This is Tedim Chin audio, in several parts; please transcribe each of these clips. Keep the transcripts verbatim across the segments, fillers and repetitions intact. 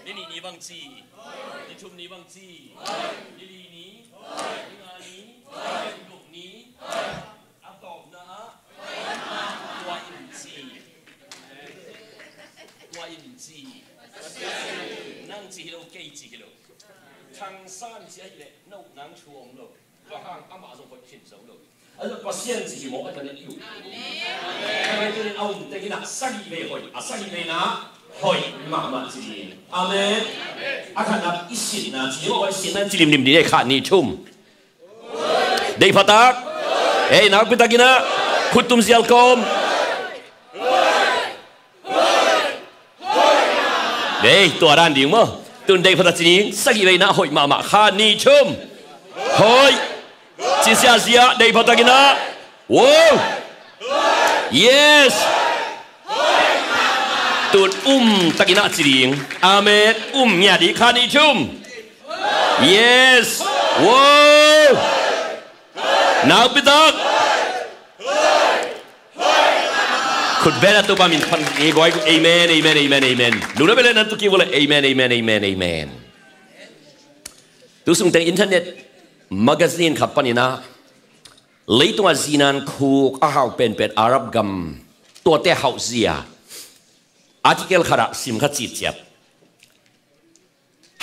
Ni nih ni bang ci? Ni thum ni bang ci? Ni li ni? Ni nga ni? Ni guk ni? A tawpna ah tua in ci. Tua in ci. Nang ci hi lo, kei ci hi lo. Thangsan ci ahih leh no nang thu om lo. Bang hang amah zong hoih khin zo lo. A zong Pasian ci hi mawk a, tua in i uh. Amen. Tua in a um teng in ah sagih vei hoih, a sagih vei na hoih mahmah ci ding. Amen. A khatna i sitna ci hi mawk a, i sitna ci limlim ding, ei, khat ni thum. Deih phatak. Ei, nakpi takin ah khut tum zial kawm. Ei, tua dan ding maw? Tun deih phatak ci ding, sagih vei na hoih mahmah, khat ni thum. Hoih. Ci ziahziah, deih phatak in ah. Wow. Yes. Tun um takin ah ci ding. Amen. Um ngiat ding, khat ni thum. Yes. Wow. Nakpi tak. Khut beng a, Topa min phat ni, guai. Amen, amen, amen, amen. Lungdam bel nan tu ki vua le. Amen, amen, amen, amen. Tu sung teng internet magazine khat panin ah, leitung a zinan khuk a hau penpen Arab gam, tuate hauh zia article khat ah sim kha citciat.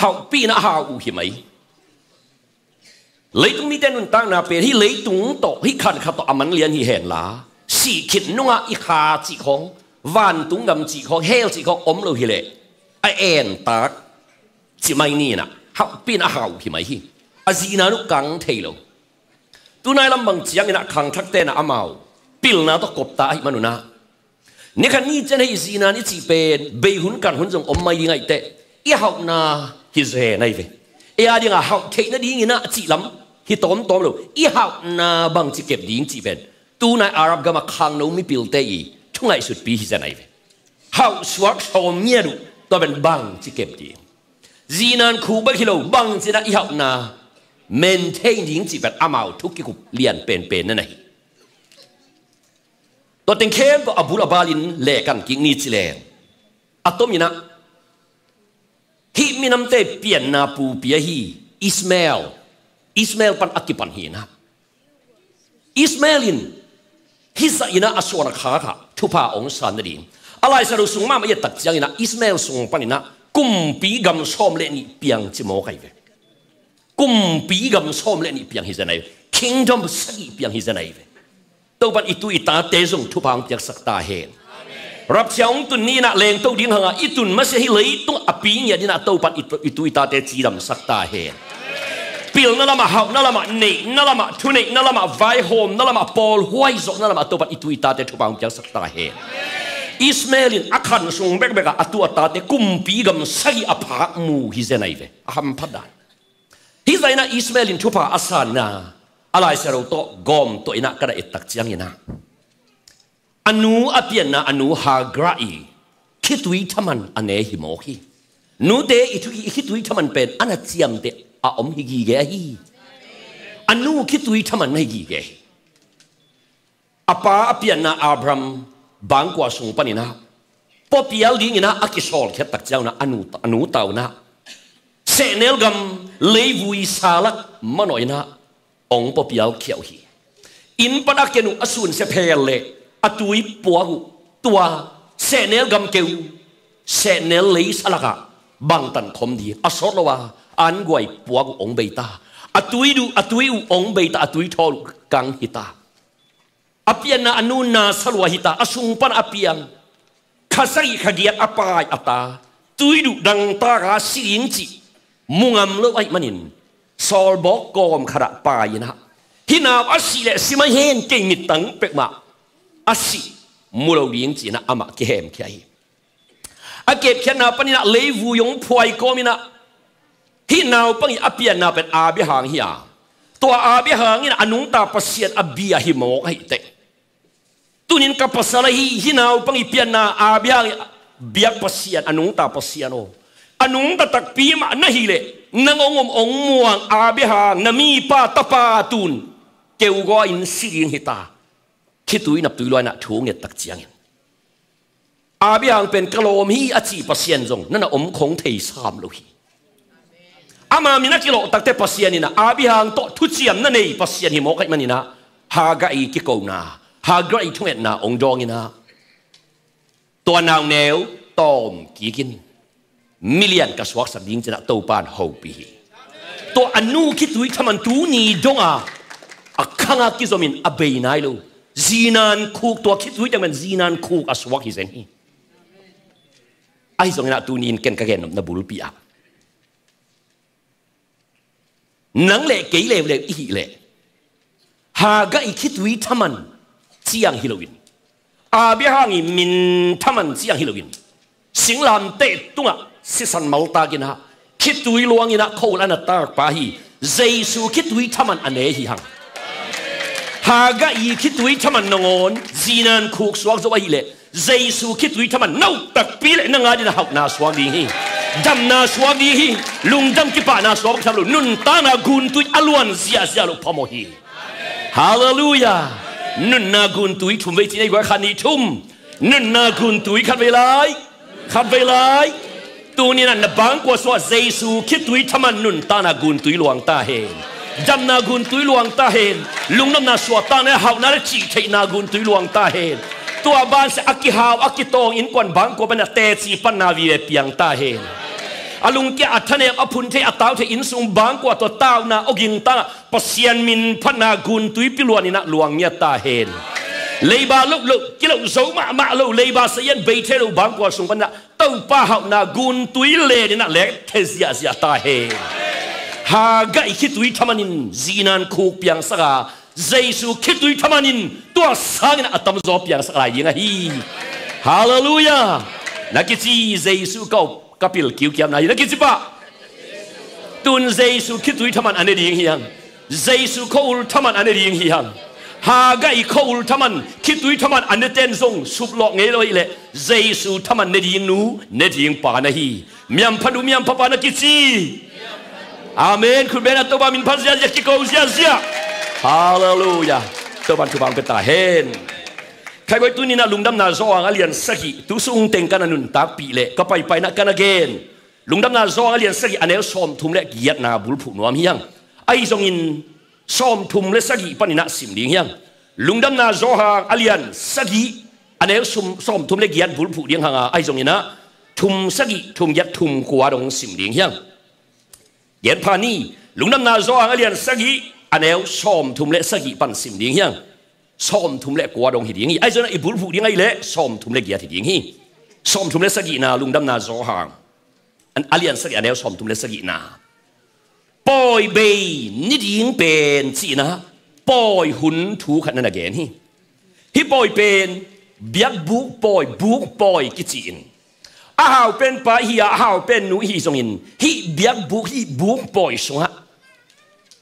Hauhpih in ah a hau uh hi mai. Leitung mite nuntakna pen hih leitung tawh, hih khan khat tawh a man lian hi hen la, sih khit nungah i kha cih khawng, vantung gam cih khawng, hell cih khawng om lo hi leh, a entak ci mai ni in ah, hauhpih in ah a hau uh hi mai hi. A zinan uh kang thei lo. Tunai lam bang ciangin ah khangthakte in ah amau pilna tawh kopta ahih man un ah, ni khat ni ciang hih zinan i cih pen bei hun kan hun zong om mai ding ahih teh, i hauhna hi zen ahi ve. Ei a dingah hauh theih nadingin ah cih lam hi tawmtawm lo. I hauhna bangci kep ding cih pen tunai Arab gam a khangno mipilte i thu ngaihsutpi hi zen ahi ve. Hauh suak sawm ngiat uh, tua pen bangci kep ding. Zinan khuk bek hi lo, bangci in ah i hauhna maintain ding cih pen amau thu kikup lian penpen na hi. Tua teng khempeuh a bul a balin lehkan kik ni ci leng, a tomin ah hih minamte pianna pupi ahi Ishmael, Ishmael pan a kipan hi in ah, Ishmael in hih zah in ah a suan a khak ah thupha hong san nading. A Laisiangtho sung mahmah i et tak ciangin ah Ishmael sung panin ah kumpi gam sawm le nih piang ci mawk ahi ve. Kumpi gam sawm le nih piang hi zen ahi ve. Kingdom sagih piang hi zen ahi ve. Topan i tu i tate zong thupha hong piaksak ta hen. Rapture hong tun ni in ah lengto ding hang a i tun masiah hih leitung a pi ngiat in ah Topan i tu, i tu i tate cidamsak ta hen. Pilna lamah, hauhna lamah, neihna lamah, thuneihna lamah, vaihawmna lamah, pawlhuai zawhna lamah Topan i tu i tate thupha hong piaksak ta hen. Ishmael in a khan sung bekbek ah a tu a tate kumpi gam sagih a phak mu hi zen ahi ve. A hamphat dan. Hih zah in ah Ishmael in thupha a san in ah, a Laisiangtho tawh gawm tuah in ah ka na et tak ciangin ah, a nu a pianna a nu Hagar i khitui thaman a ne hi mawk hi. Nute i thu, i khitui thaman pen a na ciamteh a om hi gige ahi. A nu khitui thaman na hi gige hi. A pa a pianna Abraham bangkua sung panin ah, pua pial dingin ah a kisawlkhiat tak ciang un ah a nu, a nu ta un ah sehnel gam leivui salak manawh in ah hong pua pialkhia uh hi. Inn pan a ken uh a sunsia phel leh a tui puak uh, tua sehnel gam keu, sehnel lei salak ah bangtan khom ding a sawt lo a, an guai puak uh hong bei ta. A tui duh, a tui uh hong bei ta, a tui thawl uh kang hi ta. A pianna a nu na sa lua hi ta, a sung pan a piang. Kha sagih kha giat a pai a ta, tui duh dangtak a si ding cih mu ngam lo ahih manin, sawlbawk kawm khat ah pai in ah, hih nau a sih leh si mai hen, kei mittang pek mah a sih mu lo ding ci-in ah amah kihemkhia hi. A kepkhiatna panin ah leivui hong phuai kawmin ah, hih naupang i a pianna pen Abraham hi a, tua Abraham in a nungta Pasian a bia hi mawk ahih teh, tunin ka pasal ahi, hih naupang i pianna Abraham i biak Pasian, a nungta Pasian aw, a nungta takpi mah na hih leh, nang hong om hong muang Abraham na mipa tapa tun keugaw in si ding hi ta. Khitui naptui luaina thu nget tak ciangin, Abraham pen ka lawm hi a cih Pasian zong na na om khong thei sam lo hi. Ama min a kilawh takte Pasian in ah Abraham tawh thuciam na nei Pasian hi mawk ahih manin ah Hagar i kikona, Hagar i thungetna ong dawng in ah tua nauneu tawm kikin milian ka suaksak ding ci-in ah Topa in hopih hi. Tua a nu khitui thaman tuni dong a a khang a kizomin a bei nai lo. Zinan khuk, tua khitui thaman zinan khuk a suak hi zen hi. Ahi zongin ah tuni in ken ka gen nopna bulpi ah nang le kei leuleu i hih leh Hagar i khitui thaman ciang hi loin, Abraham i min thaman ciang hi loin, singlamteh tungah sisan maltak in ah khitui luang in ah khua-ul a na takpa hi. Jesu khitui thaman a ne hi hang. Hagar i khitui thaman nangawn zinan khuk suak zo ahih leh Jesu khitui thaman na uh takpi leh nang adingin a hauhna suak ding hi. Damna suak ding hi. Lungdam kipahna suak bek tham lo, nuntakna guntui a luan ziahziah loh phamawh hi. Halleluiah. Nunna guntui thum vei ci-in ei guai, khat, nih, thum. Nunna guntui khat vei lai, khat vei lai. Tuni in ah na bangkua sungah Jesu khitui thaman nuntakna guntui luang ta hen. Damna guntui luang ta hen. Lungnopna, suahtakna, hauhna le cihtheihna guntui luang ta hen. Tua banah a kihau a kitawng innkuan bangkua pan a teci panna vive piang ta hen. A lungkia a thanem a phun thei a tau thei inn sung bangkua tua tauna awging tangah Pasian min phatna guntui piluan in ah luang ngiat ta hen. Leiba loh loh, kiloh zo mahmah lo, leiba sazian bei thei lo bangkua sung pan ah Topa hauhna guntui len in ah lek thei ziahziah ta hen. Hagar i khitui thaman in zinan khuk piangsak a, Jesu khitui thaman in tua sangin a tamzaw piangsak lai ding ahi. Halleluiah. Na kici Jesu ka up ka pil kiukiamna hi, na kici pah. Tun Jesu khitui thaman a ne ding hi hang. Jesu khua-ul thaman a ne ding hi hang. Hagar i khua-ul thaman, khitui thaman a nete'n zong suplawh ngei lo ahih leh Jesu thaman ne ding nu, ne ding pa na hi. Miampha nu, miampha pa na kici. Amen. Khut beng a Topa min phat ziahziah, kiko ziahziah. Halleluiah. Topa in thupha ong pia ta hen. Khaiboi, tuni in ah Lungdamna Johan a lian sagih, tu sung teng ka na nuntakpih leh ka paipai in ah ka na gen Lungdamna Johan a lian sagih a neu sawmthum le giatna bulphuh nuam hi hang. Ahi zongin sawmthum le sagih panin ah sim ding hi hang. Lungdamna Johan a lian sagih a neu sum, sawmthum le giat bulphuh ding hang a, ahi zongin ah thum sagih, thum giat, thum kua dong sim ding hi hang. Gen pha ni, Lungdamna Johan a lian sagih a neu sawmthum le sagih pan sim ding hi hang. Sawmthum le kua dong hi ding hi. Ahi zongin ah i bulphuh ding ahih leh sawmthum le giat hi ding hi. Sawmthum le sagihna, Lungdamna Johan a lian sagih a neu sawmthum le sagihna. Pawi bei ni ding pen ci-in ah pawi hun thu khat na na gen hi. Hih pawi pen biakbuk pawi, buk pawi kici-in, a hau pen pa i hi a, a hau pen nu i hi zongin hih biakbuk, hih buk pawi sungah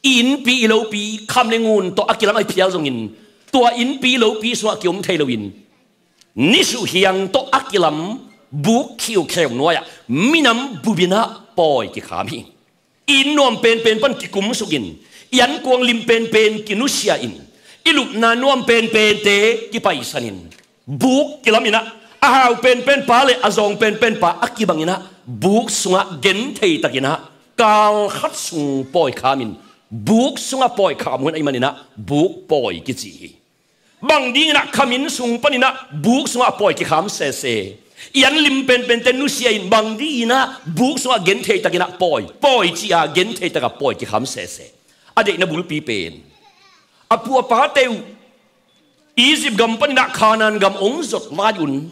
i innpi i lopi, kham le ngun tawh a kilam ahi phial zongin tua innpi lopi sungah kiom thei loin nisuh hiang tawh a kilam buk khiukheu nuai-ah minam bup in ah pawi kikham hi. I inn nuam penpen pan kikumsukin, i ankuang lim penpen kinusia-in, i lupna nuam penpente kipaisanin, buk kilam in ah, a hau penpen pa le a zawng penpen pa a kibang in ah, buk sungah genthei takin ah kal khat sung pawi khamin, buk sungah pawi kham hun ahih manin ah buk pawi kici hi. Bang dingin ah kham inn sung panin ah buk sungah pawi kikham sese? I an lim penpente nusia-in bang dingin ah buk sungah genthei takin ah pawi, pawi ci-a genthei takah pawi kikham sese? A deihna bulpi pen a pu a pate uh Egypt gam panin ah Kanaan gam ong zot lai-un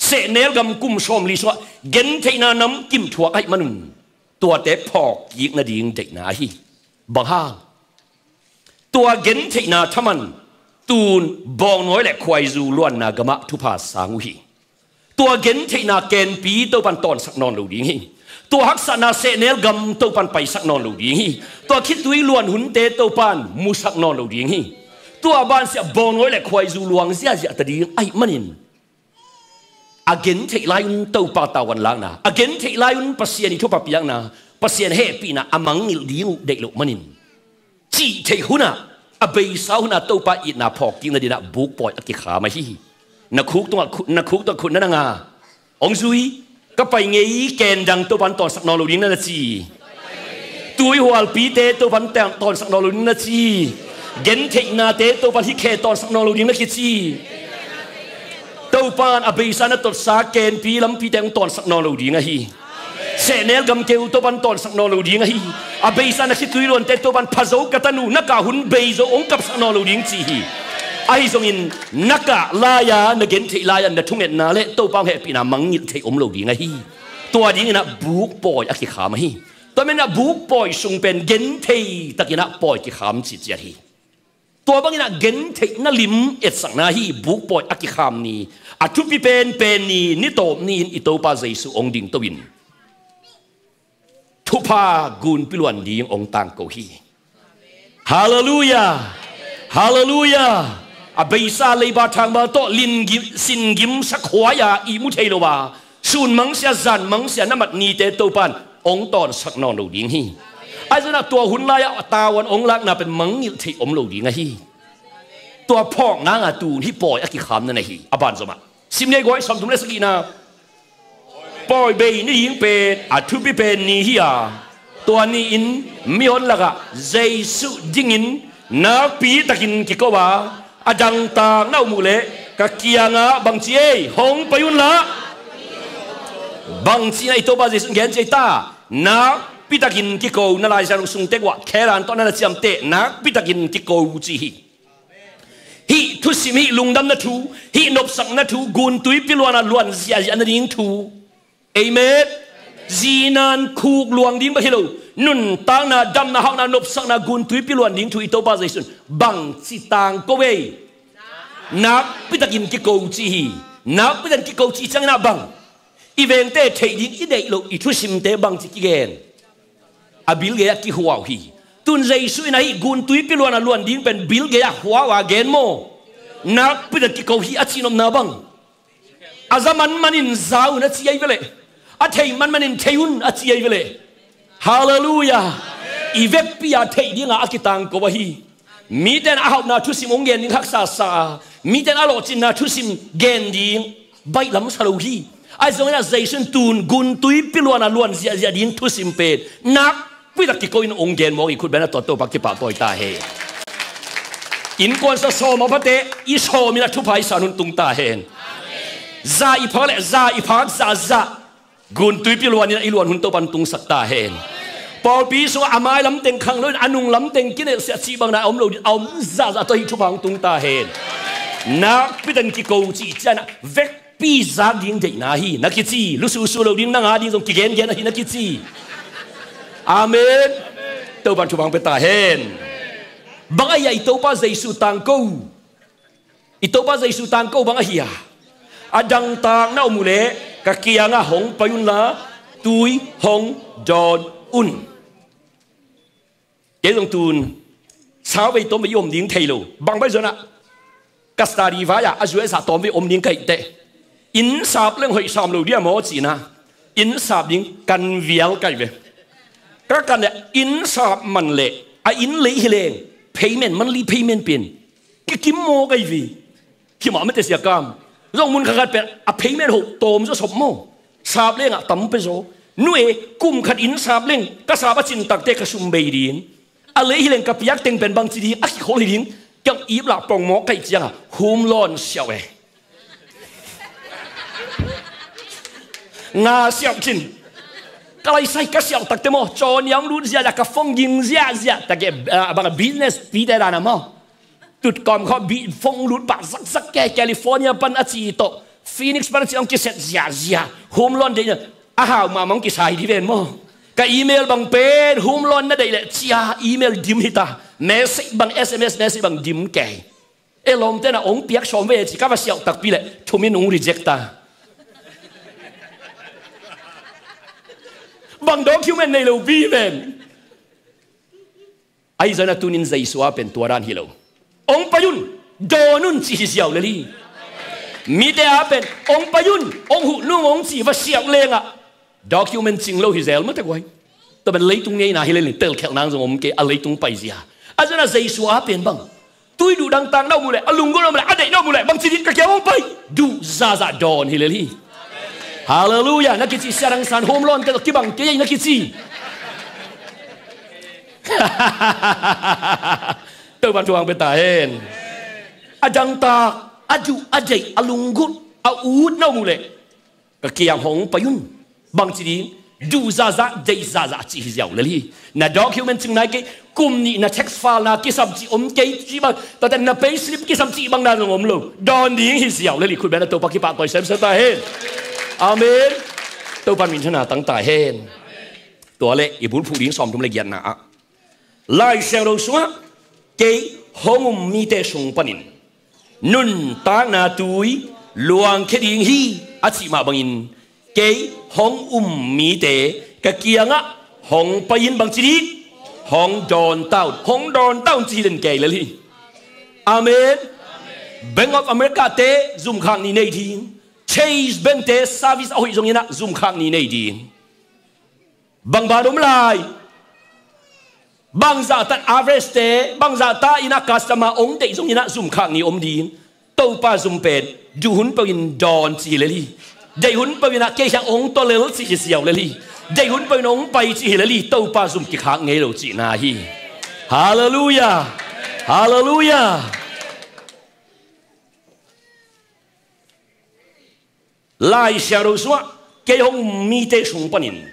sehnel gam kum sawmli sungah gentheihna namkim thuak ahih manun tuate phawk kik nading deihna ahi. Bang hang? Tua gentheihna thaman tun bawngnawi le khuaizu luanna gamah thupha sang uh hi. Tua gentheihna kenpi Topan tawnsak nawn lo ding hi. Tua haksatna sehnel gam Topan paisak nawn lo ding hi. Tua khitui luan hunte Topan musak nawn lo ding hi. Tua bansiah bawngnawi le khuaizu luang ziahziah ta ding ahih manin a gentheih lai-un Topa tavuan lakna, a gentheih lai-un Pasian i thupha piakna, Pasian hehpihna a mangngilh ding uh deih loh manin, cihtheih hunah, a beisa hunah Topa itna phawk kik nadinah bukpawi a kikham ahi hi. Na khuk tungah khu-, na khuk tungah khut na nang a, Hong zui, ka pai ngei, ken dang Topan tawnsak nawn lo ding na na ci. Tuihualpite Topan tawn- tawnsak nawn lo ding na ci. Gentheihnate Topan hih khe tawnsak nawn lo ding na kici. Topan a beisa na totsa kenpi lampite hong tawnsak nawn lo ding ahi. Sehnel gamkeu Topan tawnsak nawn lo ding ahi. A beisa na khitui luante Topan phazo ka tanu na kah hun beizo hong kapsak nawn lo ding ci hi. Ahi zongin na kah lai-a na gentheih lai-a na thungetna le Topa hong hehpihna mangngilh theih om lo ding ahi. Tua dinginah bukpawi a kikham ahi. Tua menah bukpawi sung pen genthei takinah pawi kikham ciciat hi. Tua banginah gentheihna lim etsakna hi. Bukpawi a kikham ni, a thupi penpen ni, ni tawp ni-in i Topa Jesu hong dingto in thupha gunpi luan ding hong tangko hi. Halleluiah. Halleluiah. A beisa leiba thangba tawh lingim, singim sakhuai-a ihmu thei lo a, sun mangsia zan mangsia na mat nite Topan hong tawnsak nawn lo ding hi. Ahi zongin ah tua hun lai-ah a tavuan hong lakna pen mangngilh theih om lo ding ahi. Tua phawk nanga tun hih pawi a kikhamna na hi. A banzomah Sim ni ei guai, sawmthum le sagihna. Pawi bei ni ding pen a thupi pen ni hi a, tua ni-in mihon lakah Jesu dingin nakpi takin kiko a, a dangtak na om uh leh ka kiangah bangci ei, hong pai unla. Bangci na i Topa Jesu in gen ci ei ta, nakpi takin kiko, na Lai Siangtho sung tek uah khelan tawh na na ciamteh, nakpi takin kiko ci hi. Hih thusim, hih lungdamna thu, hih nopsakna thu, guntuipi luana luan ziahziah nading thu. Amen. Zinan khuk luang ding bek hi lo, nuntakna, damna, hauhna, nopsakna, guntuipi luan ding thu i Topa Jesu in bangci tangko ei? Nakpitakin kiko ci hi. Nakpitakin kiko ci ciangin ah bang? I vengte theih ding i deih loh i thusimte bangci kigen? A bil gei-ah kihuau hi. Tun Jesu in ahi guntuipi luana luan ding pen bil gei-ah huau a gen maw? Nakpitakin kiko hi a cihnopna bang? A za manmanin za un a ci ahi ve leh, a thei manmanin thei un a ci ahi ve leh. Halleluiah. I vekpi-a theih dinga a kitangko ahi. Mite in a hauhna thusim hong gen ding haksa sa a, mite in a lawhcinna thusim gen ding baihlam sa lo hi. Ahi zongin ah Jesu in tun guntuipi luana luan ziahziah ding thusim pen nakpitak kiko in hong gen mawk hi. Khut beng a, tua Topa kipahtawi ta hen. Innkuan sa sawm a phate i sawmin a thupha i san hun tung ta hen. Za i phak le za i phak zahzah guntuipi luanin a i luan hun Topan tungsak ta hen. Pawlpi sungah a mailam teng khang loin a nunglam teng kinelhsiah cih bangna a om lo ding, a om zahzah tawh hih thupha hong tung ta hen. Nakpitakin kiko cih ciangin ah vekpi zak ding deihna hi na kici. Lususu lo ding, nang a ding zong kigengen ahi na kici. Amen. Topan thupha hong pia ta hen. Bang ahi a i Topa Jesu tangko? I Topa Jesu tangko bang ahi a? A dangtak na om uh leh ka kiangah hong pai unla, tui hong dawn un. Kei zong tun sauvei tawmvei i om ding thei lo. Bang bai zongin ah ka study vai-ah a zuai sa tawmvei om ding ka hih teh, inn sap leng hoih sam lo dia maw cihna, inn sap ding kan vial ka hih ve. Ka kan leh inn sap man leh a inn lei hi leng payment, monthly payment pen kikim maw ka hih ve. Hi mah mete sia kam. Zong mun khat khat pen a payment hoh tawm zaw sop maw? Sap lengah tam pia zaw. Nu e, kum khat inn sap leng ka sap a cin takte ka sum bei ding. A lei hi leng ka piak teng pen bangci ding a kikhol hi ding. Kiang ip lah pong mawk ka hih ciangah home loan siauh e. Nga siauh cin. Ka laisai ka siauh takte maw, cawnia hong lut ziahziah, ka phone ging ziahziah takte, ah, bang a business pite dan a maw, tutkawm khawng phone lut pah zakzak ke, California pan a ci tawh Phoenix pan a ci hong kiset ziahziah. Home loan deihna a hau mahmah hong kisai dih ven maw. Ka email bang pen home loan na deih leh cia email dim hi ta. Message bang, S M S message bang dim kei. E lawmte na hong piak sawm ve ci ka va siauh takpi leh thumin hong reject ta. Bang document nei lo bi ven. Ahi zongin a tunin Jesu a pen tua dan hi lo. Hong pai un, dawn un ci hi ziau lel hi. Mite a pen hong pai un, hong huh nung hong ci va siauh lengah document cing lo hi zel mate guai. Tua pen leitung ngeina hi lel in telkhelh nang zong om kei a leitung paizia. Ahi zongin a Jesu a pen bang? Tui duh dangtak na om uh leh, a lunggulh na om uh leh, a deih na om uh leh bangci ding? Ka kiang hong pai, duh zahzah dawn hi lel hi. Halleluiah. Na kici Sia Dang San home loan te tawh kibang kei ei na kici. Topa'n thupha hong pia ta hen. A dangtak, a duh, a deih, a lunggulh, a ut na om uh leh ka kiang hong pai un. Bangci ding? Duh zahzah, deih zahzah cih hi ziau lel hi. Na document cing nai kei, kum nih na tax file na kisam cih om kei cih bang, tua teh na payslip kisam cih bang na zong om lo. Dawn ding hi ziau lel hi. Khut beng a, Topa kipahtawi semsem ta hen. Amen. Topa'n minthanna tang ta hen. Tua leh i bulphuh ding sawmthum le giatna ah, Lai Siangtho sungah kei hong um mite sung panin nuntakna tui luangkhia ding hi a cih mah bangin, kei hong um mite ka kiangah hong pai in. Bangci ding? Hong dawn ta un. Hong dawn ta un ci hi den kei lel hi. Amen. Bank of America te zumkhak ni nei ding, Chase Bank te service a hoih zongin ah zumkhak ni nei ding. Bang ban om lai? Bangzah tan average te, bangzah ta in ah customer hong deih zongin ah zumkhak ni om ding. Topa zum pen duh hun peuh in dawn ci hi lel hi. Deih hun peuh in ah kei kiang hong tua lel ci hi ziau lel hi. Deih hun peuh in hong pai ci hi lel hi. Topa zum kikhak ngei lo cihna hi. Halleluiah. Halleluiah. Lai Siangtho sungah kei hong um mite sung panin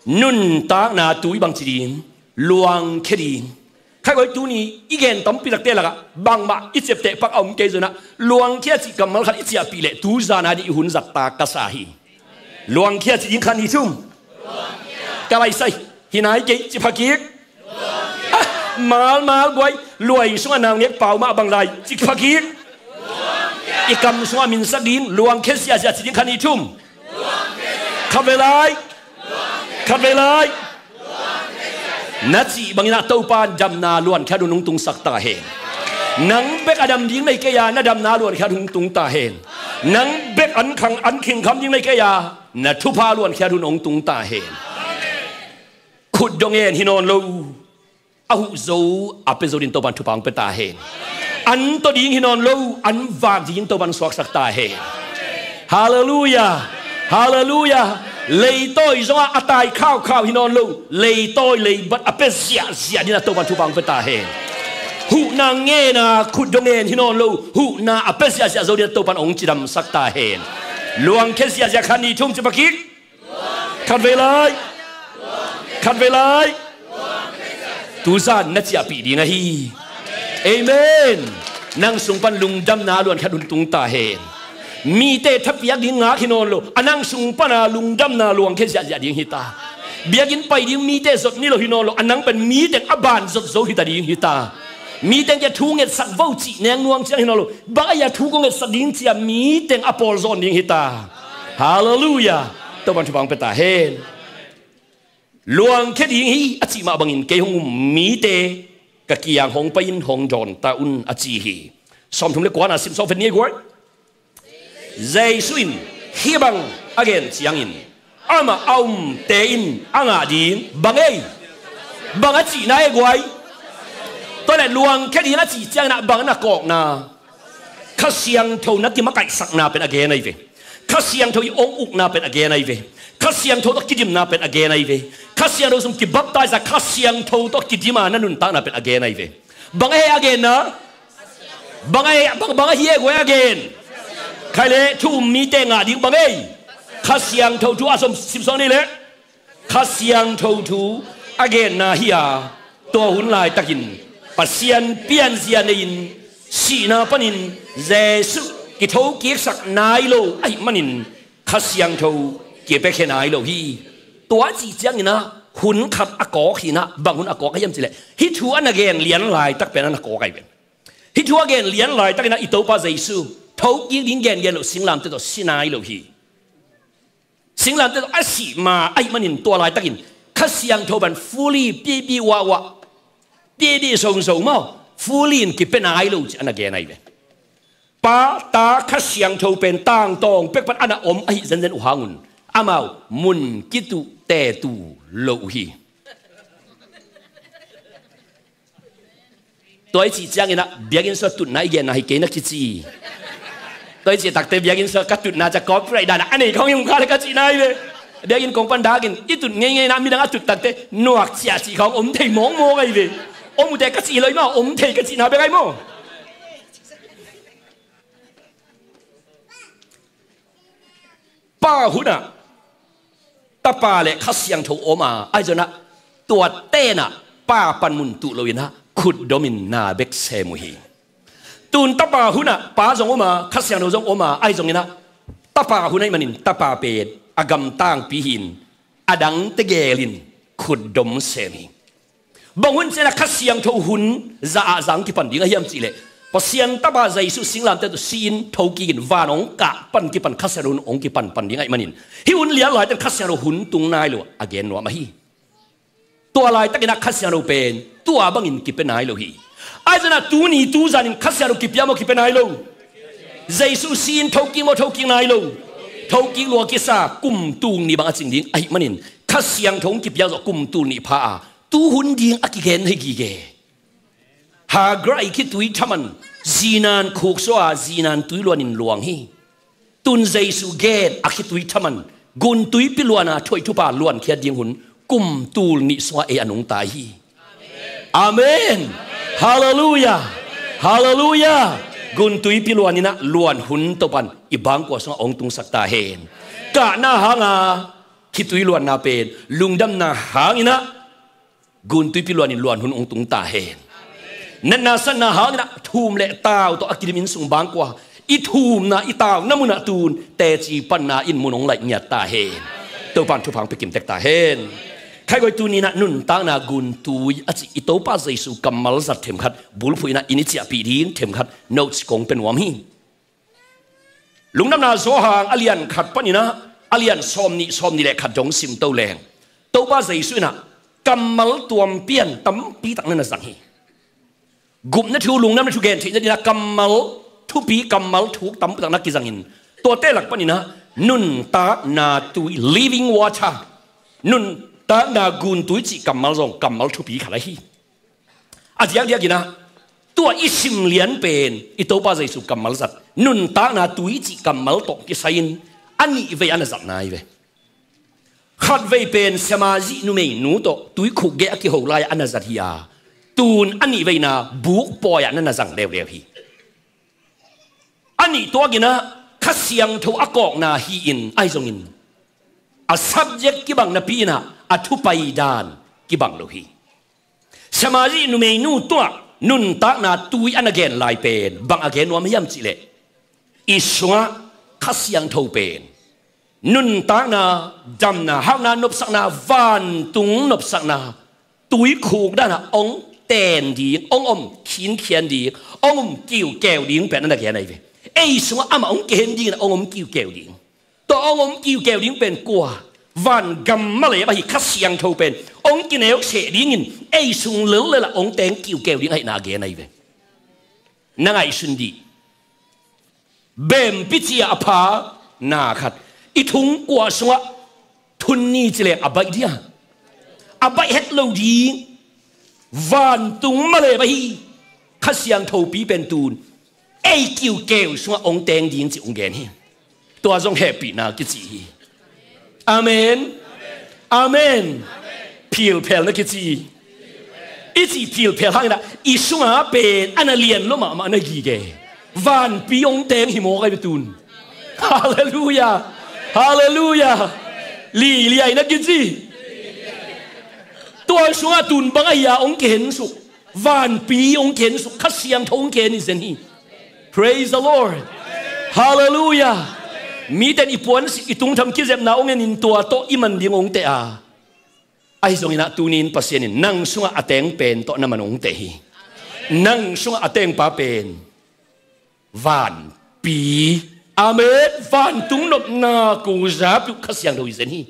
nuntakna tui bangci ding? Luangkhia ding. Khaikoi tuni i gen tampi takte lakah bangmah i ciapteh pak a om kei zongin ah luangkhia cih kammal khat i ciahpih leh tu zan a ding i hun zat ta ka sa hi. Luangkhia ci ding khat ni thum. Ka laisai hi nai kei, ci pha kik. Ah, malmal guai, luai sungah naungek pau mah bang lai, ci pha kik. I kam sungah minsak ding, luangkhia ziahziah ci ding khat ni thum. Khatvei lai. Khatvei lai. Na cih bangin ah Topa'n damna luankhia hun hong tungsak ta hen. Nang bek a dam ding nei kei a, na damna luankhia hun hong tung ta hen. Nang bek an khang an khingkham ding nei kei a, na thupha luankhia hun hong tung ta hen. Khut dong en hi nawn lo, a huh zo a pia zo ding Topa'n thupha hong pia ta hen. An taw ding hi nawn lo, an vak ding Topa'n suaksak ta hen. Halleluiah. Halleluiah. Leitawi zongah a tai khaukhau hi nawn lo, leitawi leibat a pia ziahziah ding ah Topa'n thupha hong pia ta hen. Huhna ngen a khut dong en hi nawn lo, huhna a pia ziahziah zo ding ah Topa'n hong cidamsak ta hen. Luangkhia ziahziah khat ni thum ci pha kik. Khatvei lai. Khatvei lai. Tu zan na ciahpih ding ahi. Amen. Nang sung pan lungdamna luankhia hun tung ta hen. Mite thapiak ding ngak hi nawn lo, a nang sung pan a lungdamna luangkhia ziahziah ding hi ta. Biakinn pai ding mite zot ni lo hi nawn lo, a nang pen mi teng a ban zot zo hi ta ding hi ta. Mi teng kiang thu ngetsak vo cih neng nuam ciang hi nawn lo, bang ahi a thu kong ngetsak ding ci a mi teng a pawl zawn ding hi ta. Halleluiah. Topa'n thupha hong pia ta hen. Luangkhia ding hi a cih mah bangin kei hong um mite ka kiang hong pai in hong dawn ta un a ci hi. Sawmthum le kuana sim sawm vet ni ei guai. Jesu in hih bang a gen ciangin amah a umte in a ngah ding bang ei? Bang a cihna ei guai? Tua leh luangkhia ding a cih ciangin ah bang a na kawkna? Kha Siangtho na kimakaihsakna pen a gen ahi ve. Kha Siangtho i hong ukna pen a gen ahi ve. Kha Siangtho tawh kidimna pen a gen ahi ve. Kha Siangtho sung kibaptise a, Kha Siangtho tawh kidim a na nuntakna pen a gen ahi ve. Bang ahi a genna? Bang ahi, bang, bang ahi e guai a gen? Khai leh thu um mite ngah ding bang ei? Kha Siangtho thu a sawm sim sawm ni leh. Kha Siangtho thu a genna hi a, tua hun laitakin Pasian pianzia nei-in sihna panin Jesuh kithokiksak nai lo ahih manin Kha Siangtho kipiakhia nai lo hi. Tua a cih ciangin ah hun khat a kawk hi-in ah bang hun a kawk a hiam cih leh hih thu a na gen lian laitak pen a na kawk ahi pen. Hih thu a gen lian laitakin ah i Topa Jesuh thokik ding gengen loh singlamteh tawh si nai lo hi. Singlamteh tawh a sih ma ahih manin tua laitakin Kha Siangtho pen fully pipi wahwah, pipi zongzong maw, fully in kipia nai lo cih a na gen ahi ve. Pa, Ta, Kha Siangtho pen tangtawng pek pan a na om ahi zenzen uh hangun amau mun kituh tetu lo uh hi. Tua i cih ciangin ah biakinn sungah tutna i genna hi kei na kici. Tua i cih takte biakinn sungah ka tutna ciang copyright dan a nei khawng hi ung kha le ka cihna hi ve. Biakinn kong pan dak in i tut ngeingei na midang a tut takte nuak ciah cih khawng om thei mawkmawk ahi ve. Om uh teh ka cih hi lo hi maw, om thei ka cihna bek ahi maw. Pa hunah Tapa le Kha Siangtho om a, ahi zongin ah tua tenah Pa panmun tuh loin ah khutdomin na bek sem uh hi. Tun Tapa hunah Pa zong om a, Kha Siangtho zong om a, ahi zongin ah Tapa hun ahih manin Tapa pen a gamtangpi hi-in a dangte gelin khutdom sem hi. Bang hun ciangin ah Kha Siangtho hun za ah za hong kipan ding ahi hiam cih leh, Pasian Tapa Jesu singlamteh tawh si-in tho kikin van hong kah pan kipan Kha Siangtho hun hong kipan pan ding ahih manin, hih hun lian laitakin Kha Siangtho hun tung nai lo a gen nuam ahi. Tua laitakin ah Kha Siangtho pen tua bangin kipia nai lo hi. Ahi zongin ah tuni tu zanin Kha Siangtho kipia maw, kipia nai lo? Jesu si-in thokik maw, thokik nai lo? Thokik lua kisa, kum tul nih bang a cing ding ahih manin Kha Siangtho hong kipia zawh kum tul nih pha a, tu hun ding a kigen hi gige. Hagar i khitui thaman zinan khuk suah a, zinan tui luanin luang hi. Tun Jesu gen a khitui thaman gun tuipi luan a thuaih thupha luankhiat ding hun kum tul nih sungah ei a nungta hi. Amen. Halleluiah. Halleluiah. Gun tuipi luanin ah luan hun Topan i bangkua sungah hong tungsak ta hen. Kahna hanga khitui luanna pen lungdamna hangin ah gun tuipi luanin luan hun hong tung ta hen. Natna satna hangin ah thum le tau tawh a kidim inn sung bangkua i thumna i tauna munah tun teci panna in mun hong laih ngiat ta hen. Topan thupha hong pia kimtek ta hen. Khaigoi, tuni-in ah nuntakna gun tui a cih i Topa Jesu kammal zat themkhat bulphuh in ah i ni ciahpih ding themkhat notes kong pia nuam hi. Lungdamna Johan a lian khat panin ah a lian sawm nih, sawm nih le khat dong sim to leng, Topa Jesu in ah kammal tuam pian tampi tak na na zang hi. Gupna thu, lungdamna thu gen theih nadingin ah kammal thupi, kammal thuk tampi tak na kizangin, tuate lak panin ah nuntakna tui, living water, nuntakna gun tui cih kammal zong kammal thupi khat ahi hi. A diakdiakin ah tua i sim lian pen i Topa Jesu kammal zat, nuntakna tui cih kammal tawh kisai-in a nih vei a na zatna hi ve. Khatvei pen Samaria numeinu tawh tuikhuk gei a kiho lai-ah a na zat hi a, tun a nih veina buk pawi-ah na na zang leuleu hi. A nih tuakin ah Kha Siangtho a kawkna hi-in ahi zongin a subject kibang napi-in ah a thupai dan kibang lo hi. Samaria numeinu tungah nuntakna tui a na gen lai pen bang a gen nuam hiam cih leh, i sungah Kha Siangtho pen nuntakna, damna, hakna, nopsakna, vantung nopsakna, tuikhuk danah hong ten ding, hong om khinkhian ding, hong om kiukeu ding pen a na gen ahi ve. Ei sungah amah hong kihen dingin hong om kiukeu ding. Tua hong om kiukeu ding pen kua? Vangam malep ahi Kha Siangtho pen hong kineuseh dingin ei sung lellel ah hong teng kiukeu ding ahihna a gen ahi ve. Na ngaihsun dih. Bempi ci-a a pha na khat i thungkua sungah thun ni ci leng a baih dia? A baih het lo ding. Vantung malep ahi Kha Siangthopi pen tun ei kiukeu sungah hong teng ding cih hong gen hi. Tua zong hehpihna kici hi. Amen. Amen. Philphel na kici. I cih philphel hangin ah i sunga pen a na lian lo mahmah na gige. Vanpi hong teng hi mawk ahi ve tun. Halleluiah. Halleluiah. Liliai na kici. Tua sungah tun bang ahi a hong kihensuk. Vanpi hong kihensuk, Kha Siangtho hong kihen hi zen hi. Praise the Lord. Halleluiah. Mite in i puansik, i tungtham kizepna hong enin tua tawh i man ding hong teh a, ahi zongin ah tuni-in Pasian in nang sungah a teng pen tawh na man hong teh hi. Nang sungah a tengpa pen vanpi. Amen. Vantung nopna ko zapi uh Kha Siangtho hi zen hi.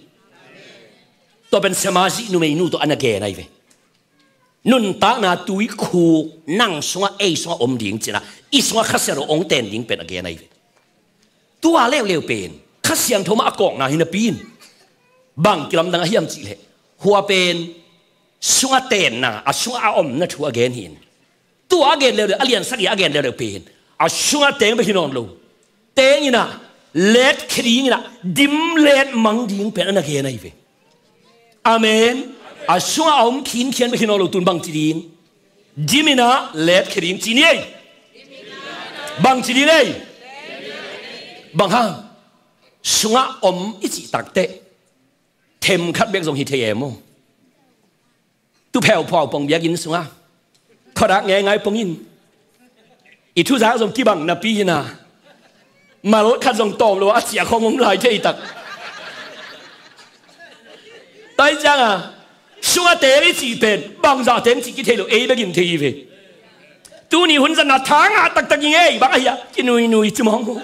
Tua pen Samaria numeinu tawh a na gen ahi ve. Nuntakna tuikhuk nang sungah ei sungah om ding ci-in ah i sungah Kha Siangtho hong ten ding pen a gen ahi ve. Tua leuleu pen Kha Siangtho mah a kawkna hi napi-in bang kilamdang ahiam cih leh, hua pen sungah tenna, a sungah a omna thu a gen hi-in, tua a gen leuleu, a lian sagih a gen leuleu pen a sungah teng bek hi nawn lo. teng in ah, let khia ding in ah, dim let mang ding pen a na gen ahi ve. Amen. A sungah a om khinkhian bek hi nawn lo, tun bangci ding? Dim in ah let khia ding ci ni ei. Bangci ding ei? Bang hang? Sungah om i cih takteh themkhat bek zong hi thei e maw? Tu pheuphau pong biakinn sungah khuadak ngeingai pong in, i thuzak zong kibang napi hi na, mal khat zong tawm lo a ciah khong om lai thei tak. Tua hi ciangah sungah teng i cih pen bangzah teng cih kithei lo, ei bek in thei hi ve. Tuni hun zan a thangah taktak i ngei bang ahi a, kinuinui ci mawng maw?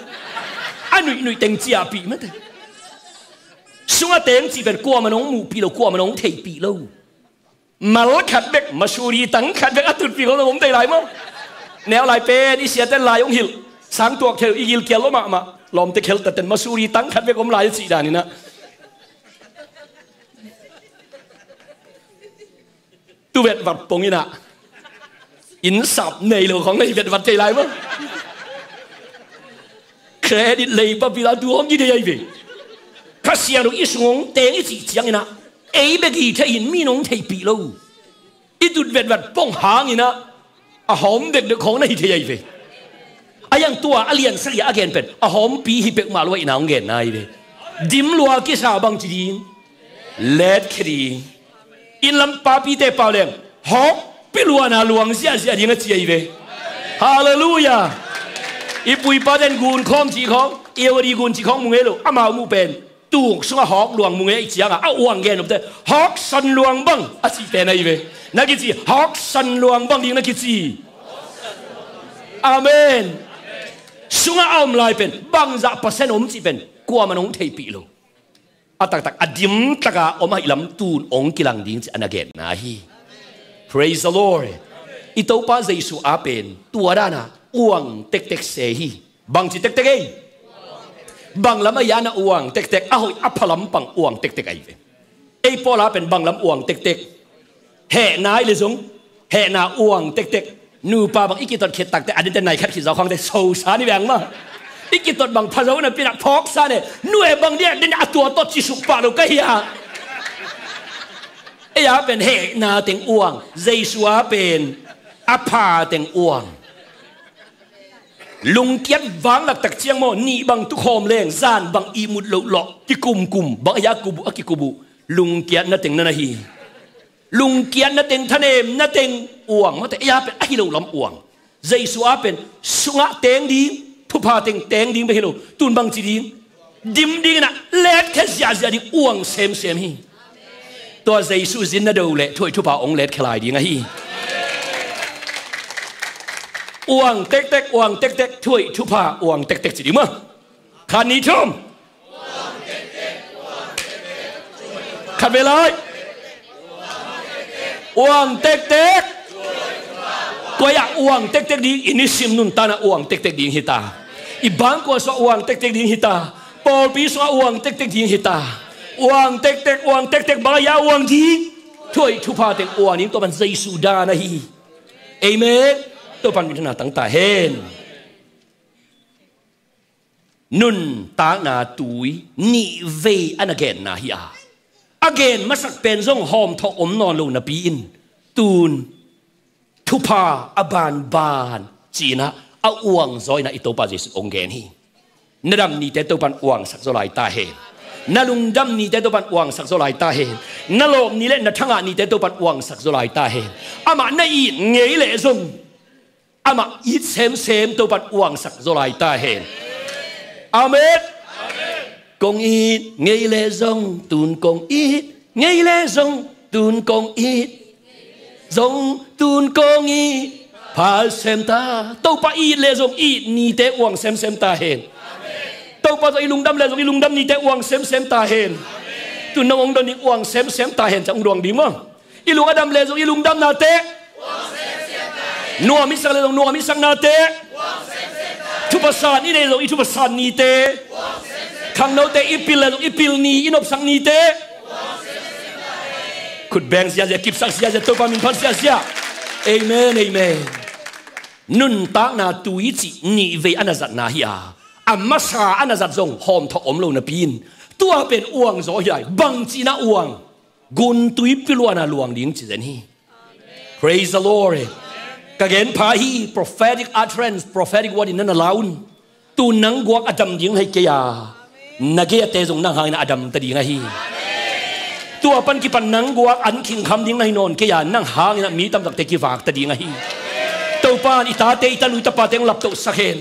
A nuihnui teng ciahpih mate. Sungah teng cih pen kuamah nong muhpih lo, kuamah nong theihpih lo. Mal khat bek, masuri tang khat bek a tutpih khong zong om thei lai maw? Neu lai pen i siaten lai hong hilh, sang tuak thei lo, i gilkial lo mahmah. Lawmte kheltaten masuri tang khat bek om lai a cih dan in ah, tu vetvat pong in ah, inn sap nei lo khong na hi vetvat thei lai maw? Credit lei papi la tu hong kithei ahi ve. Kha Siangtho i sung hong teng i cih ciang in ah, ei bek hi thei in, mi nong theihpih lo. I tut vetvat pong hang in ah, a hawm dekdek khong na hi thei ahi ve. A hi hang tua a liansak i a gen pen a hawmpi hi peuhmah lo a, i na hong genna ahi ve. Dim lua kisa, bangci ding? Let khia ding. Inn lam papite pau leng hawkpi luana luang ziahziah ding a ci ahi ve. Halleluiah. I pu i paten gun khawm cih khawng, i odi gun cih khawng mu ngei lo, amau muh pen tuk sungah hawk luang mu ngei i ciangah a uang gen nopte hawksan luang bang a cih pen ahi ve. Na kici hawksan luang bang ding na kici. Amen. Sungah a om lai pen bangzah percent om cih pen kuamah nong theihpih lo. A taktak a dimtaka om ahih lam tun hong kilang ding ci a na genna hi. Praise the Lord. I Topa Jesu a pen tua dana uang tektek se hi. Bangci tektek ei? Bang lam ahi a na uang tektek, a hoih a pha lampang uang tektek ahi ve. Ei Paul a pen bang lam uang tektek? Hehna i le zong, hehna uang tektek. Nupa bang i kitot khit takte a dinte nai khat khit zaw khangte sosa ni beng mah. I kitot bang pha zo na pinah phawksa ne, nu e bang dia dinte a tua tot cisuk pah lo ka hi a. Ei a pen hehna teng uang, Jesu a pen a pha teng uang. Lungkiat vanglak tak ciang maw, nih bang tukhawm leng zan bang ihmut loh lawh kikumkum, bang ahi a kubuh a kikubuh. Lungkiatna teng na na hi. Lungkiatna teng, thanemna teng uang mate, ei a pen ahi lo lam uang. Jesu a pen sungah teng ding, thupha teng teng ding bek hi lo, tun bangci ding? Dim ding in ah letkhia ziahziah ding uang semsem hi. Tua Jesu zin na do leh thuhoih thupha hong letkhia lai ding ahi. Uang tektek, uang tektek, thuhoih thupha uang tektek ci ding maw? Khat, nih, thum. Khat vei lai. Uang tektek. Koi ah uang tektek ding, i nisim nuntakna uang tektek ding hi ta. I bangkua sungah uang tektek ding hi ta. Pawlpi sungah uang tektek ding hi ta. Uang tektek, uang tektek, bang ahi a uang ding? Thuhoih thupha teng uang ding, tua pan Jesu dan ahi. Amen. Tua pan minthanna tang ta hen. Nuntakna tui nih vei a na genna hi a, a gen masak pen zong hawmthawh om nawn lo napi in, tun thupha a banban ci-in ah a uang zaw in ah i Topa Jesu hong gen hi. Na dam nite Topan uangsak zaw lai ta hen. Na lungdam nite Topan uangsak zaw lai ta hen. Na lawp ni le na thangah nite Topan uangsak zaw lai ta hen. Amah na it ngei leh zong, amah it semsem Topan uangsak zaw lai ta hen. Amen. Kong it ngei leh zong tun kong it, ngei leh zong tun kong it, zong tun kong it pha semta. Topa it leh zong it nite uang semsem ta hen. Topa zong i lungdam leh zong i lungdam nite uang semsem ta hen. Tun nong hong don ding uang semsem ta hen, ciang hong duang ding maw? I lung a dam leh zong i lungdamnate, nuam i sak leh zong nuam i saknate, thupha san i neih zong i thupha san nite, khangnote i pil leh zong i pil ni, i nopsak nite. Khut beng ziazia, kipsak ziazia, Topa min phat ziazia. Amen, amen. Nuntakna tui cih nih vei a na zatna hi a, A masa a na zat zong hawmthawh om lo napi in, tua pen uang zaw hi lai. Bangci na uang? Guntuipi luan a luang ding ci zen hi. Praise the Lord. Ka gen pha hi, prophetic utterance, prophetic word in na na la un. Tu nang guak a dam ding hi kei a, na gei a te zong nang hangin a dam ta ding ahi. Tua pan kipan nang guak an khingkham ding na hi nawn kei a, nang hangin a mi tamtakte kivak ta ding ahi. Topa in i tate, i tanui tapate hong laptohsak hen.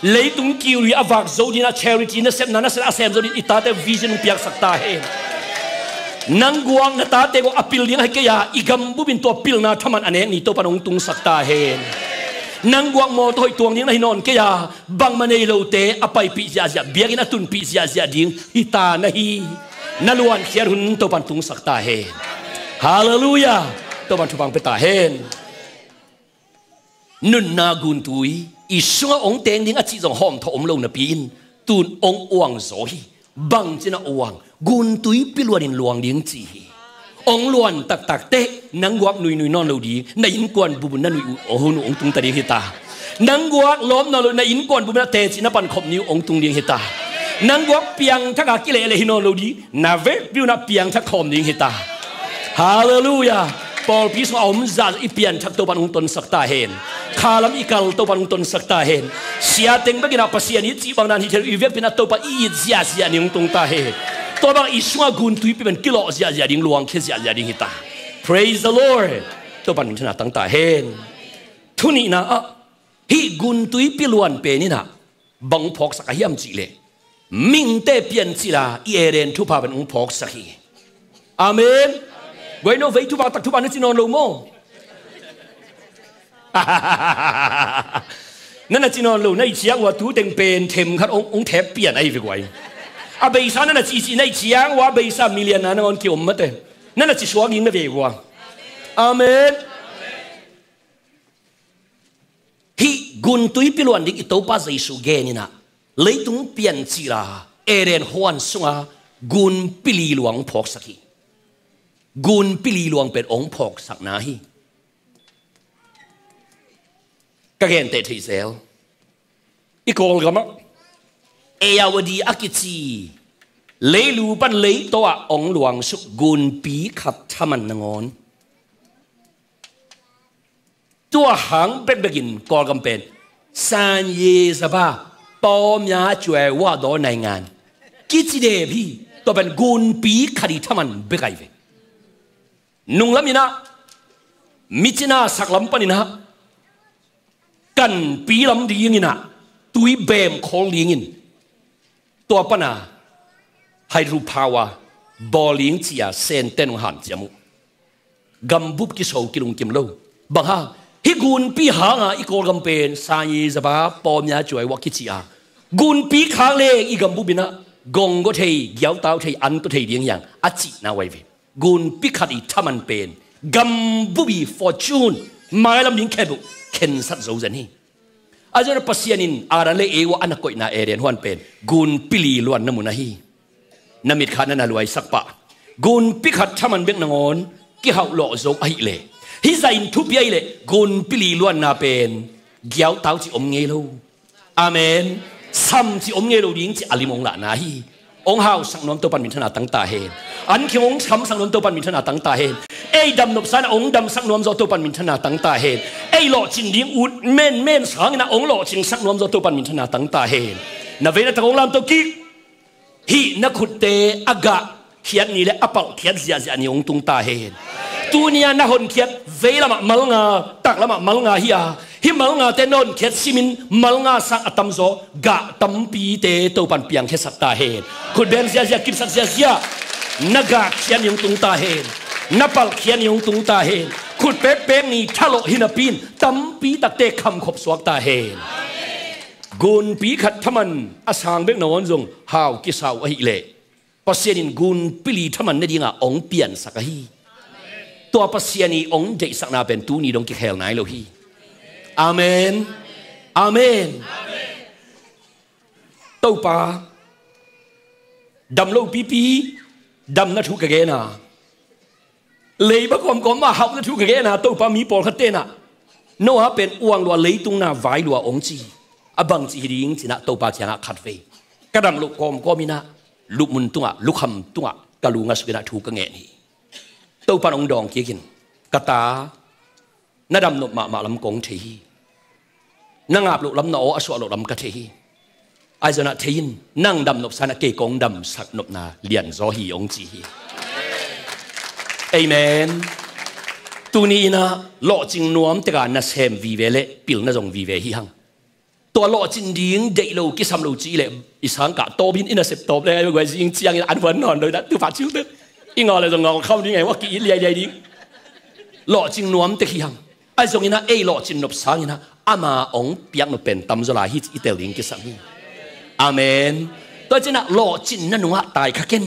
Leitung kiu i a vak zo ding a charity nasepna, nasepna a sem zo ding i tate vision hong piaksak ta hen. Nang guak na tate guak a pil ding ahi kei a, i gambup in tua pilna thaman a nek ni Topa in hong tungsak ta hen. Nang guak mawtaw hoih tuang ding na hi nawn kei a, bangmah nei lote a paipih ziahziah, biakinn a tunpih ziahziah ding hi ta na hi. Na luankhiat hun Topa in tungsak ta hen. Halleluiah. Topa in thupha hong pia ta hen. Nunna guntui i sungah hong teng ding a cih zong hawmthawh om lo napi in, tun hong uang zaw hi. Bangci na uang? Guntuipi luanin luang ding ci hi. Hong luan taktak teh nang guak nuinui nawn lo ding, na innkuan bup un na nui uh, hun uh hong tung ta ding hi ta. Nang guak lawm nawn lo, na innkuan bup un a teci na pankhop ni uh hong tung ding hi ta. Nang guak piangthak a kilehleh hi nawn lo ding, na vekpi un a piangthak khawm ding hi ta. Halleluiah. Pawlpi sungah a om zah i pianthak Topa in hong tonsak ta hen. Khalam i kal Topa in hong tonsak ta hen. Sia teng bekin a Pasian i cih bang dan hi thei lo, i vekpi in a Topa i it ziahziah ni hong tung ta hen. Tua bang i sungah guntuipi pen kilawh ziahziah ding, luangkhia ziahziah ding hi ta. Praise the Lord. Topa in minthanna tang ta hen. Thu nihna ah, hih guntuipi luan pen in a bang hong phawksak a hiam cih leh, mihingte piancil a i Eden thupha pen hong phawksak hi. Amen. Guai no, vei thupha tak thupha na ci nawn lo maw? Na na ci nawn lo, na i ciang uh a tu teng pen themkhat hong, hong thep pian ahi ve guai. A beisa na na ci ci, na i ciang uh a beisa million na nangawn kiom mate. Na na ci suak ding na ve uh a. Amen. Hih guntuipi luan ding i Topa Jesu gen in a, leitung piancil a Eden huan sunga gunpi li luang phawksak hi. Gunpi li luang pen hong phawksakna hi. Ka genteh theih zel. I Kawlgam ah Ayeyarwady a kici leilu pan leitaw ah hong luangsuk gunpi khat thaman nangawn, tua hang bekbekin Kawlgam pen 三月十八 ပေါများစွာစွာသောနိုင်ငံ kici dep hi. Tua pen gunpi khat i thaman bek ahi ve. Nunglam in a, micina saklam pan in a, kanpi lam ding in a, tui bem khol ding in, tua pan a hydropower bawl ding ci a Sente in hong hanciam uh. Gambup kiso kilungkim lo. Bang hang? Hih gunpi hang a i Kawlgam pen 三月十八 ပေါများစွာစွာသောနိုင်ငံ kici a, gunpi khak leng i gambup in a gong go thei, giautau thei, an to thei ding hi hang a cihna uh ahi ve. Gunpi khat i thaman pen gambup i fortune, mailam ding khempeuh khensat zo zen hi. A zon a Pasian in Adam le Eva a na koihna Eden huan pen gunpi li luanna mun ahi. Na mitkha na na luaisak pah. Gunpi khat thaman bek nangawn kihauhlawh zo ahih leh, hih zah in thupi ahih leh, gunpi li luanna pen giautau cih om ngei lo. Amen. Sam cih om ngei lo ding cih a lim hong lahna hi. Hong hausak nuam Topa in minthanna tang ta hen. An khing hong samsak nuam Topa in minthanna tang ta hen. Ei damnop sa in a hong damsak nuam zaw Topa in minthanna tang ta hen. Ei lawhcing ding ut menmen sangin a hong lawhcingsak nuam zaw Topa in minthanna tang ta hen. Na vei na tak hong lamto kik. Hih na khutte a gah khiat ni le a palh khiat ziahziah ni hong tung ta hen. Tuni a na honkhiat veilam ah malnga, taklam ah malnga hi a, hih malngate na honkhiat simin malnga sang a tamzaw gah tampite Topa in piangkhiasak ta hen. Khutbeng ziahziah, kipsak ziahziah, na gah khiat ni hong tung ta hen. Na palh khiat ni hong tung ta hen. Khut pekpek ni thalawh hi napi in tampi takte khamkhop suak ta hen. Gunpi khat thaman a sang bek nangawn zong hau kisa uh ahih leh, Pasian in gunpi li thaman ne dingin hong piansak ahi. Tua Pasian i hong deihsakna pen tuni dong kikhel nai lo hi. Amen. Amen. Topa, dam lo pipi damna thu ka gen a, leiba kawmkawm mah hauhna thu ka gen a, Topa, mi pawlkhat ten ah Noah pen uang lua, leitung na vai lua hong ci. A bangci hi ding ci-in ah Topa kiangah khatvei ka dam loh kawmkawm in ah lupmun tungah, lukham tungah ka lu ngasuk in ah thu ka ngen hi. Topa in hong dawng kik in, "Ka ta, na dam nop mahmah lam kong thei hi. Na ngap loh lam, na aw a suah loh lam ka thei hi. Ahi zongin ah thei in, nang dam nopsa in ah kei kong damsak nopna lianzaw hi," hong ci hi. Amen. Tuni in ah lawhcing nuam tek a nasem vive le pilna zong vive hi hang. Tua lawhcin ding deih lo, kisam lo ci leh i sangkah tawp in, i nasep tawp le ngai guai zing ciangin an huan nawn lo in ah, tu pah ciu te i ngau le zong ngau kham ding, ngai wak ki-it liailiai ding. Lawhcing nuam tek hi hang. Ahi zongin ah ei lawhcin nop sangin ah ama hong piak nop pen tamzaw lai hi ci i tel ding kisam hi. Amen. Tua ci-in ah lawhcin na nungah tai kha ken,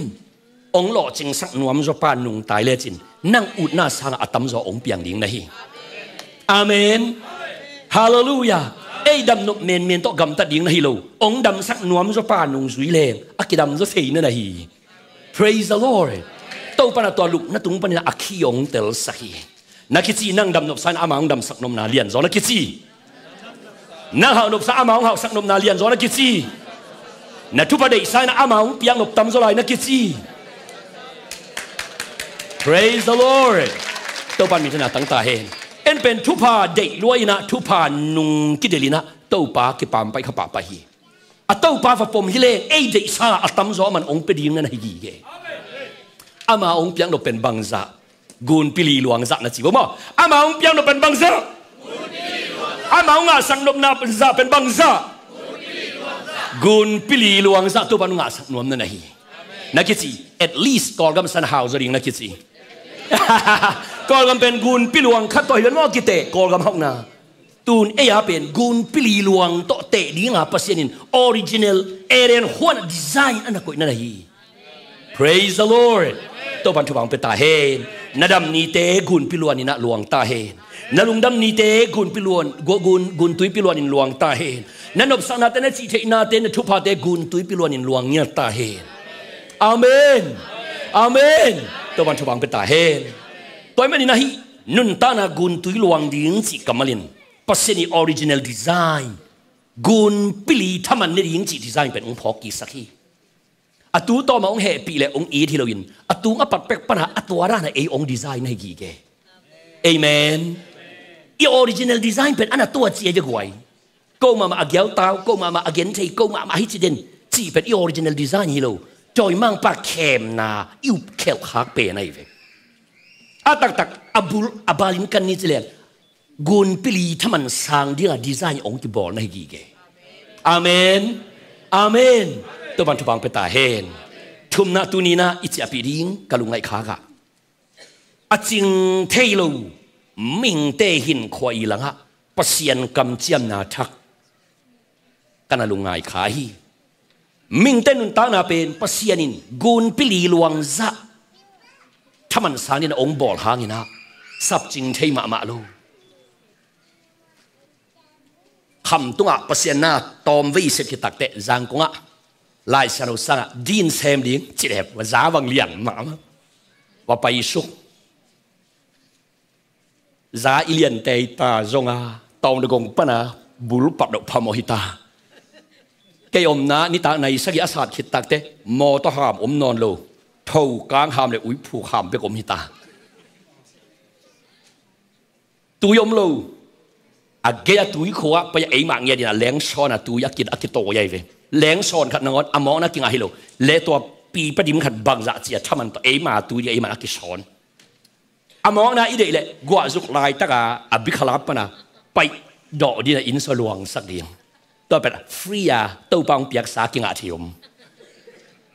hong lawhcingsak nuamzaw pa nungta i lecin nang utna sangah a tamzaw hong piang ding na hi. Amen. Halleluiah. Ei dam nop menmen tawh gamtat ding na hi lo. Hong damsak nuamzaw pa nungzui leng a kidamzaw thei na na hi. Praise the Lord. Topa in ah tua lupna tung panin ah a khi hong telsak hi. Na kici, nang dam nopsa in ah ama hong damsak nopna lianzaw na kici. Nang hauh nopsa in ah ama hong hauhsak nopna lianzaw na kici. Na thupha deihsa in ah ama hong piak nop tamzaw lai na kici. Praise the Lord. Topa in minthanna tang ta hen. En pen thupha deih lua in ah, thupha nung kidelh in ah Topa kipampai kha pahpah hi. A Topa va pom hi leng ei deihsa a tamzaw aman hong pia ding na na hi gige. Ama hong piak nop pen bangzah? Gunpi li luang zah na ci bo maw. Ama hong piak nop pen bangzah? Ama hong ngahsak nopna zah pen bangzah? Gunpi li luang zah Topa in hong ngahsak nuam na na hi. Na kici, at least Kawlgam san hau zaw ding na kici. Kawlgam pen gunpi luang khat tawh hi ven maw, kiteh Kawlgam hauhna. Tun ei a pen gunpi li luang tawh teh dinga Pasian in original Eden huan design a na koihna na hi. Praise the Lord. Topa in thupha hong pia ta hen. Na dam nite gunpi luan in ah luang ta hen. Na lungdam nite gunpi luan, gu-, gun, guntuipi luan in luang ta hen. Na nopsaknate, na cihtheihnate, na thuphate guntuipi luan in luang ngiat ta hen. Amen. Amen. Topa in thupha hong pia ta hen. Tua ahih manin ah hih nuntakna guntui luang ding cih kammal in Pasian ii original design, gunpi li thaman ne ding cih design pen hong phawk kiksak hi. A tu tawm a hong hehpih leh hong it hi loin, a tung a pat pek pan a, a tua dan a ei hong design na hi gige. Amen. I original design pen a na tua ci a hi ve guai. Ko mahmah a giautau, ko mahmah a genthei, ko mahmah a hi ci den cih pen i original design hi lo. Tawimangpa khemna i up khelh khak pen ahi ve. A taktak a bul a bal in kan ni ci leng gunpi li thaman sang dinga design hong kibawl na hi gige. Amen. Amen. Topa in thupha hong pia ta hen. Thumna, tuni in ah i ciahpih ding ka lungngaih khak ah, a cing thei lo mihingte hinkhua ii langah Pasian kamciamna thak ka na lungngai kha hi. Mihingte nuntakna pen Pasian in gunpi li luang zah thaman sang dingin a hong bawl hangin ah sapcing thei mahmah lo. Kham tungah Pasian na tawmvei sep khit takteh Zangkong ah Lai Siangtho sangah din sem ding ci leh va za vang lian mahmah. Va paisuk. Za i lian teita zong a, tawng dagong pan a bul pat loh phamawh hi ta. Kei omna nitak nai sagih a sat khit takteh mawtaw ham om nawn lo, thokang ham le uiphuk ham bek om hi ta. Tui om lo. A gei a tuikhua ah pai a eimah ngiat in a lengsawn a tui a ki, a kitawi ahi ve. Lengsawn khat nangawn a mawkna kingah hi lo. Le tua pipa dim khat bangzah ci a thaman tawh eima tui ding eimah a kisawn. A mawkna i deih leh guahzuk laitaka a bikhalap pana paih dawh ding a inn sung luangsak ding. Tua pen free a Topa hong piaksa kingah thei om.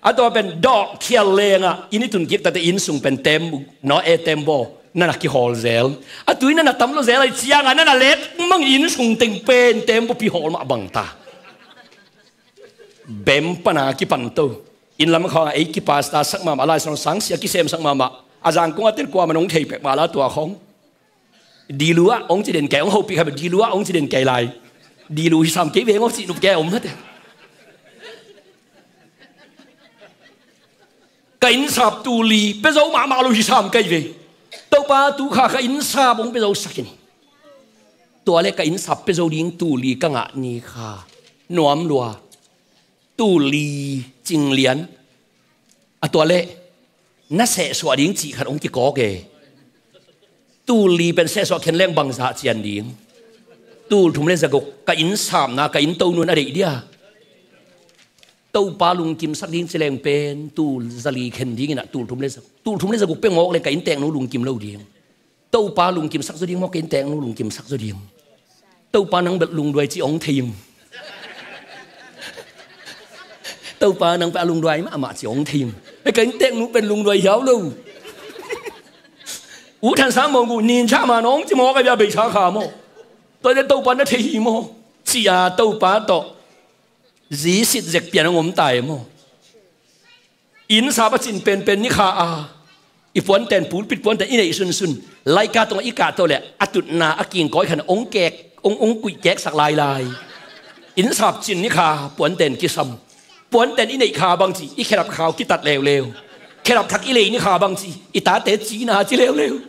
A tua pen dawh khial lengah inn i tun kik tate inn sung pen tembaw, no e tembaw nana kihawl zel. A tui nana tam lo zel ahi cianga nana let mang inn sung teng pen tembaw pi hawl mah bang ta. Bem pana kipan to. Inn lam khawngah ei kipasta sak mahmah, Lai Siangtho sangsia kisemsak mahmah. A Zangkong a ten kuamah nong thei pek mah la tua khawng. Dilu ah hong ci den kei, hong hopih kha bek, dilu ah hong ci den kei lai. Dilu hi sam kei veng aw cih nup kei om hate. Ka innsap tul li pia zo mahmah lo hi sam kei ve. Topa tu kha ka innsap hong pia zo sak in. Tua le ka innsap pia zo ding tul li ka ngah ni kha nuam lua, tul li cing lian, a tua leh na sehsuah ding cih khat hong kikawk e. Tul li pen sehsuah khen leng bangzah cian ding? Tul thum le za guk, ka inn sapna, ka inn tonun a deih dia. Topa lungkimsak ding ci leng pen tul za li khen ding in ah, tul thum le za, tul thum le za guk peuh mawk leng ka innteknu lungkim lo ding. Topa lungkimsak zaw ding maw, ka innteknu lungkimsak zaw ding? Topa nang bel lungduai ci hong thei ing. Topa nang pen a lungduai mahmah ci hong thei ing. Ei, ka innteknu pen lungduai hiau lo. U Than Sang Mawng uh nin cha ma nong ci maw, ka bia bei cha kha maw? Tua cia Topa na thei hi maw? Ci-a Topa tawh zisit zek pian hong om ta e maw? Inn sap a cin penpen ni kha a, i puanten, pulpit puanten i neih sunsun, laika tungah i kahto leh a tutna a kingkawi khan hong kek, hong, hong kuih keksak lailai. Inn sap cin ni kha puanten kisam. Puanten i neih kha bangci i khedap khau kitat leuleu. Khedap thak i lei ni kha bangci i tate cina ci leuleu.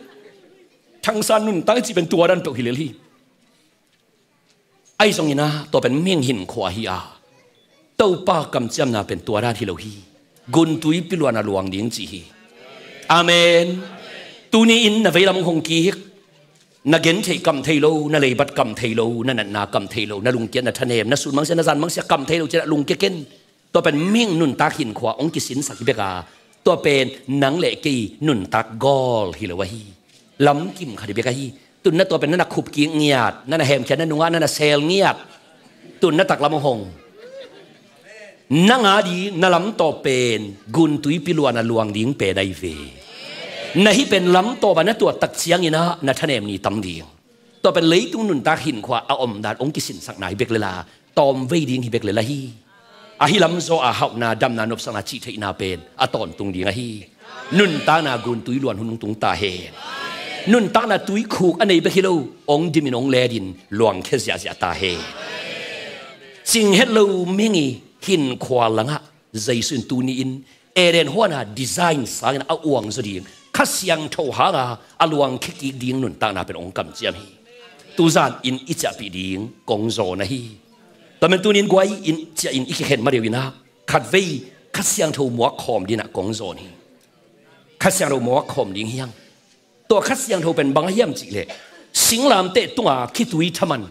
Thangsan nuntak i cih pen tua dan peuh hi lel hi. Ahi zongin ah, tua pen mihing hinkhua hi a, Topa kamciamna pen tua dan hi lo hi. Guntuipi luan a luang ding ci hi. Amen. Tuni-in na veilam hong kik, na gentheih kam thei lo, na leibat kam thei lo, na natna kam thei lo, na lungkiat, na thanem, na sun mangsia, na zan mangsia kam thei lo, ci-in ah lungkia ken. Tua pen mihing nuntak hinkhua hong kisinsak hi bek a, tua pen nang le kei nuntak gawl hi lo ahi. Lamkim khat hi bek ahi. Tun na tua pen na na khup kik ngiat, na na hemkhia, na nungah na na sel ngiat. Tun na taklam hong, nang a ding na lam tawh pen guntuipi luan a luang ding pen ahi ve. Na hih pen lam tawh bang na tuat tak ciangin ah na thanem ni tam ding. Tua pen leitung nuntak hinkhua a omdan hong kisinsakna hi bek lel a, tawmvei ding hi bek lel ahi. Ahi lam zaw a hauhna, damna, nopsakna, cihtheihna pen a tawntung ding ahi. Nuntakna guntui luan hun hong tung ta hen. Nuntakna tuikhuk a nei bek hi lo, hong dimin hong letin luangkhia ziahziah ta hen. Cing het lo mihing i hinkhua langah Jesu in tuni-in Eden huan a design sangin a uang zaw ding, Kha Siangtho hanga a luangkhia kik ding nuntakna pen hong kamciam hi. Tuzan in i ciahpih ding kong zawn ahi. Tua men tuni-in guai in ciah in i kikhen ma deuh in ah, khatvei Kha Siangtho muak khawm ding ah kong zawn hi. Kha Siangtho muak khawm ding hi hang. Tua Kha Siangtho pen bang a hiam cih leh, singlamteh tunga khitui thaman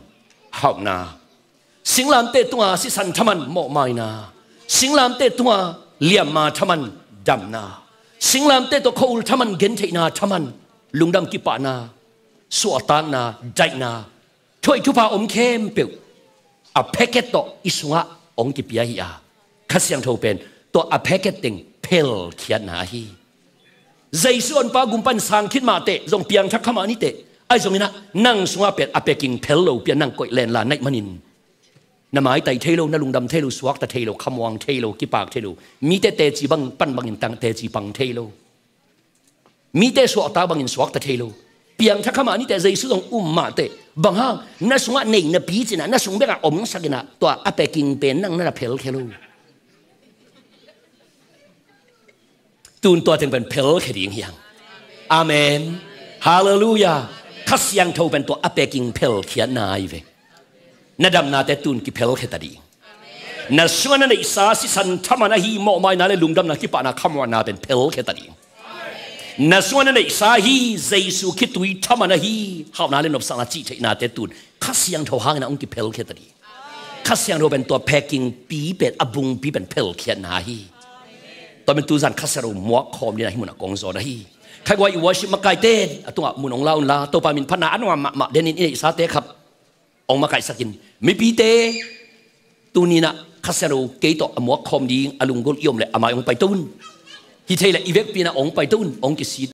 hauhna, singlamteh tunga sisan thaman mawhmaina, singlamteh tunga liamma thaman damna, singlamteh tawh khua-ul thaman gentheihna thaman, lungdam kipahna, suahtakna, daihna, thuhoih thupha om khempeuh a package tawh i sungah hong kipia hi a, Kha Siangtho pen tua a package teng phelkhiatna ahi. Jesu honpa gumpa in sang khit mah teh, zong piangthak kha mah ni teh, ahi zongin ah nang sungah pen a packing phel lo pi a, nang koih lenla naih manin na maitai thei lo, na lungdam thei lo, suakta thei lo, khamuang thei lo, kipak thei lo, mite teci bang pan bangin tang teci pang thei lo, mite suakta bangin suakta thei lo. Piangthak kha mah ni teh, Jesu zong um mah teh, bang hang, na sungah nei napi cin ah, na sung bekah omsak in ah, tua a packing pen nang na na phelkhia lo. Tun tua teng pen phelkhia ding hi hang. Amen. Halleluiah. Kha Siangtho pen tua a packing phelkhiatna ahi ve. Na damnate tun kiphelkhia ta ding. Na sungah na neihsa sisan thaman ahi mawhmaina le lungdamna, kipahna, khamuanna pen phelkhia ta ding. Na sungah na neihsa ahi Jesu khitui thaman ahi hauhna le nopsakna, cihtheihnate tun Kha Siangtho hangin ah hong kiphelkhia ta ding. Kha Siangtho pen tua packing pi pen, a bungpi pen phelkhiatna ahi. Tua pen tuzan Kha Siangtho muak khawm ding a hih munah kong zawn ahi. Khaiguai i worship makaite a tungah mun hong la unla, Topa min phatna a nuam mahmah denin i neihsate khap hong makaihsakin, mipite tuni-in ah Kha Siangtho kei tawh a muak khawm ding a lunggulh i om leh a mai hong paito un. Hi thei leh i vekpi-in ah hong paito un, hong kisit